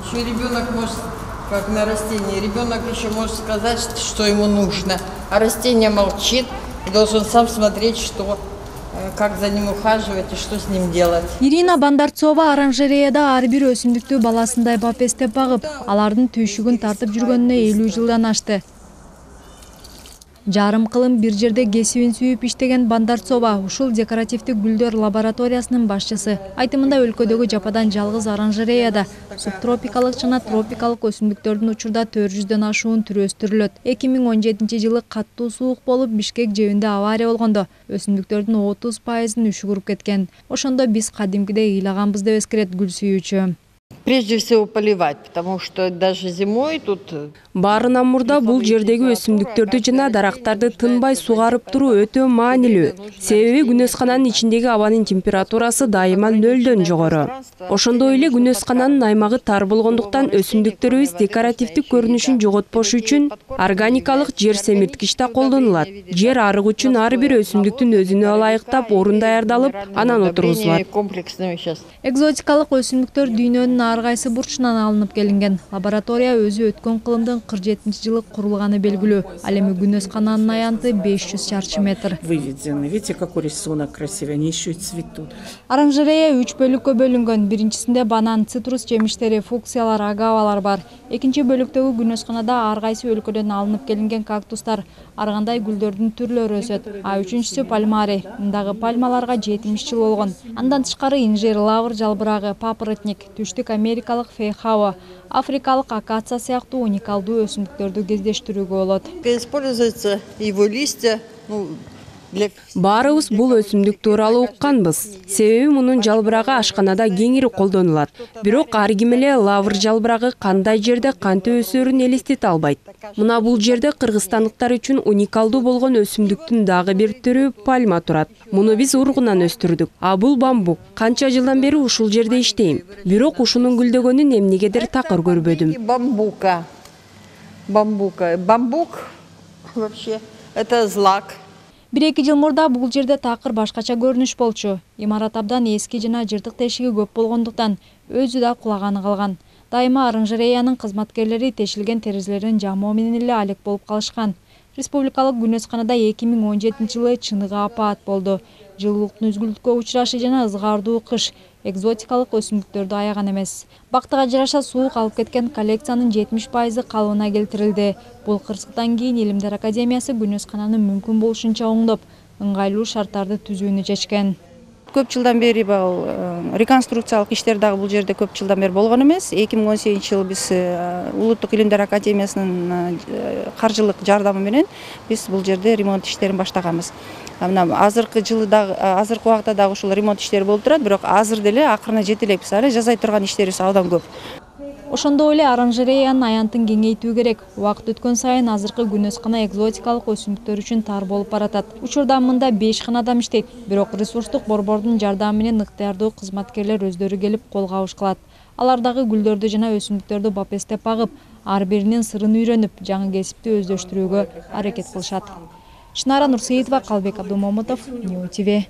Еще ребенок может, как на растении, ребенок еще может сказать, что ему нужно, а растение молчит и должен сам смотреть, что, как за ним ухаживать и что с ним делать. Ирина Бандарцова оранжереяда ар бир өсүмдүктү баласындай бапестеп багып, алардын түйшүгүн тартып жүргөнүнө 50 жылдан ашты. Жарым кылым бир жерде кесибин сүйүп иштеген Бандарцова ушул декоративдик гүлдөр лабораториясынын башчысы. Айтымында өлкөдөгү жападан жалгыз оранжереяда субтропикалык жана тропикалык өсүмдүктөрдүн учурда 400дөн ашуун түрү өстүрүлөт. 2017 жылы каттуу суук болуп Бишкек жебинде авария болгондо өсүмдүктөрдүн 30%ын үшүгүрүп кеткен. Ошондо биз кадимкидей ыйлаганбыз деп эскерет гүл сүйүүчү. Прежде всего поливать, потому что даже зимой тут... Баарынан мурда бул жердеги өсүмдүктөрдү жана дарактарды тынбай сугарып туруу өтө маанилүү. Себеби күнөскананын ичиндеги абанын температурасы дайыма 0дөн жогору. Ошондой эле күнөскананын аймагы тар болгондуктан өсүмдүктөрүбүз декоративдик көрүнүшүн жоготпош үчүн органикалык жер семирткич да колдонулат. Жер арык үчүн ар бир өсүмдүктүн өзүнө ылайыктап орун даярдалып, анан отургузулат. Экзотикалык өсүмдүктөр дүйнөнүн ар кайсы бурчунан алынып келинген. Лаборатория өзү өткөн кылымдын 47-жылы курулганы белгилүү. Ал эми күнөскананын аянты 500 чарчы метр. Выведены. Видите, какой рисунок красивый, они еще и цветут. Оранжерея 3 бөлүккө бөлүнгөн. Биринчисинде банан, цитрус жемиштери, фуксиялар, агавалар бар. Экинчи бөлүктөгү күнөсканада ар кайсы өлкөдөн алынып келинген кактустар, ар кандай гүлдөрдүн түрлөрү өсөт. А үчүнчүсү пальмарий. Мындагы пальмаларга 70 жыл болгон. Андан тышкары инжир, лавр жалбырагы, папоротник, түштүк америкалык фейхауа, африкалык акация сыяктуу уникалдуу өсүмдүктөрдү кездештирүүгө болот. Используется его листья, Баарыбыз бул өсүмдүк тууралуу укканбыз. Себеби мунун жалбырагы ашканада кеңири колдонулат. Бирок ар ким эле лавр жалбырагы кандай жерде кантип өсөрүн элестете албайт. Мына бул жерде кыргызстандыктар үчүн уникалдуу болгон өсүмдүктүн дагы бир түрү пальма турат. Муну биз ургунан өстүрдүк. А бул бамбук. Канча жылдан бери ушул жерде иштейм. Бирок ушунун гүлдөгөнүн эмнегедир такыр көрбөдүм. Бамбук вообще это злак. 1-2 жыл мурда бул жерде такыр башкача көрүнүш болчу. Имарат абдан эски жана жыртык тешиги көп болгондуктан өзү да кулаганы калган. Дайыма оранжереянын кызматкерлери тешилген терезелерин жамоо менен эле алек болуп калышкан. Республикалык күнөсканада 2017 жылы чыныгы апаат болду. Жылуулуктун үзгүлтүккө учурашы жана ызгаардуу кыш экзотикалык өсүмдүктөрдү аяган эмес. Бактыга жараша суук алып кеткен коллекциянын 70% калыбына келтирилди. Бул кырсыктан кийин Илимдер академиясы күнөскананы мүмкүн болушунча оңдоп, ыңгайлуу шарттарды түзүүнү чечкен. Көп жылдан бери реконструкциялык иштер дагы бул жерде көп жылдан бери болгон эмес. 2018 жылы биз Улуттук Илимдер академиясынын каржылык жардамы менен биз бул жерде ремонт иштерин баштаганбыз. Мына азыркы жылы дагы азыркы убакта дагы ушул ремонт иштери болуп турат, бирок азыр деле акырына жете элекпиз. Ары жасай турган иштерибиз абдан көп. Ошондой эле оранжереянын аянтын кеңейтүү керек. Убакыт өткөн сайын азыркы күнөскана экзотикалык өсүмдүктөр үчүн тар болуп баратат. Учурда мында 5 гана адам иштейт, бирок ресурстук борбордун жардамы менен ыктыярдуу кызматкерлер өздөрү келип кол кабыш кылат. Алар дагы гүлдөрдү жана өсүмдүктөрдү бапестеп багып, ар биринин сырын үйрөнүп, жаңы кесипти өздөштүрүүгө аракет кылышат. Шынара Нурсеитова, Калбек Абдумомутов, Нью ТВ.